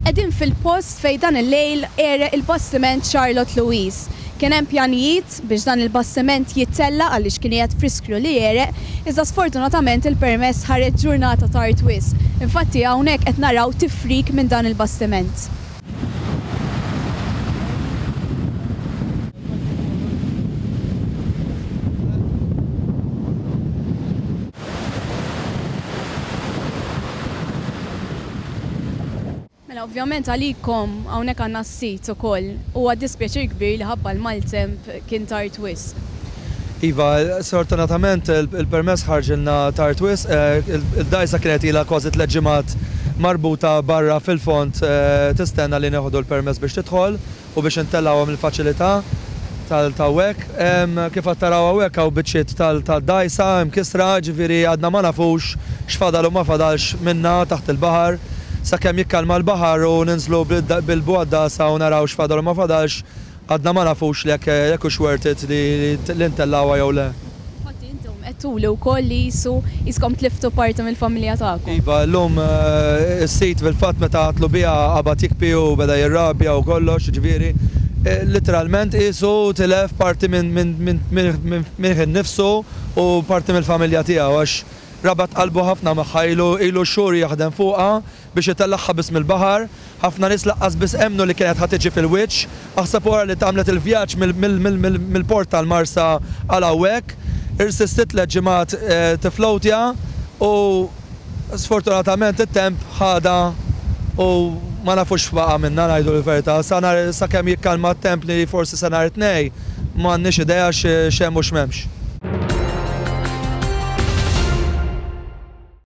Qegħdin fil-post fejn dan il-lejl għereq il-bastiment Charlotte Louise. Kien hemm pjanijiet biex dan il-bastiment jittella' għaliex kien qiegħed f'riskju li jegħreq, iżda sfortunatament il-permess ħareġ ġurnata tard wisq. Infatti hawnhekk qed naraw tifrik minn dan il-bastiment. Mela ovvjament għalikom hawnhekk għandna s-sit ukoll. Huwa dispjaċir kbir li ħabba l-maltemp kien tard wisq. Iva, sfortunatament il-permess ħarġilna tard wisq. Il-dgħajsa kienet ilha kważi tlett ġimgħat marbuta barra fil-fond tistenna li nieħdu l-permess biex tidħol. u biex intellgħuha mill-faċilità t'hawnhekk. Kif qed taraw hawnhekk hawn biċċiet tad-dgħajsa mkissra, ġifieri għadna ma nafux x'fadal u ma fadalx minnha taħt il-baħar. Sakemm jikkalma l-baħar u ninżlu bil-bugħaddasa u naraw x'fadal u ma fadalx, għadna ma nafux jekk hux worth it li ntellgħuha jew le. Infatti intom għedtuli wkoll li qisu qiskom tliftu parti mill-familja tagħkom. Iva, llum is-sid fil-fatt meta għadtlu biha qabad jikbi u beda jirrabja u kollox, jiġifieri litteralment qisu tilef parti minn minn innifsu u parti mill-familja tiegħu għax rabat qalbu ħafna magħha, ilu ilu xhur jaħdem fuqha biex itellagħha biss mill-baħar. Ħafna nies laqqas biss emmnu li kienet ħa tiġi fil-wiċċ. Aħseb u ara li għamlet il-vjaġġ mill-port tal-Marsa għal hawnhekk. Irsistiet tliet ġimgħat tifflowtja u sfortunatament it-temp ħadha u ma nafux x'baqa' minnha ngħidu l-verità. Sa nhar sakemm jikkalma t-temp li forsi sa nhar it-Tnejn m'għandniex idea x'hemm u x'm'hemmx.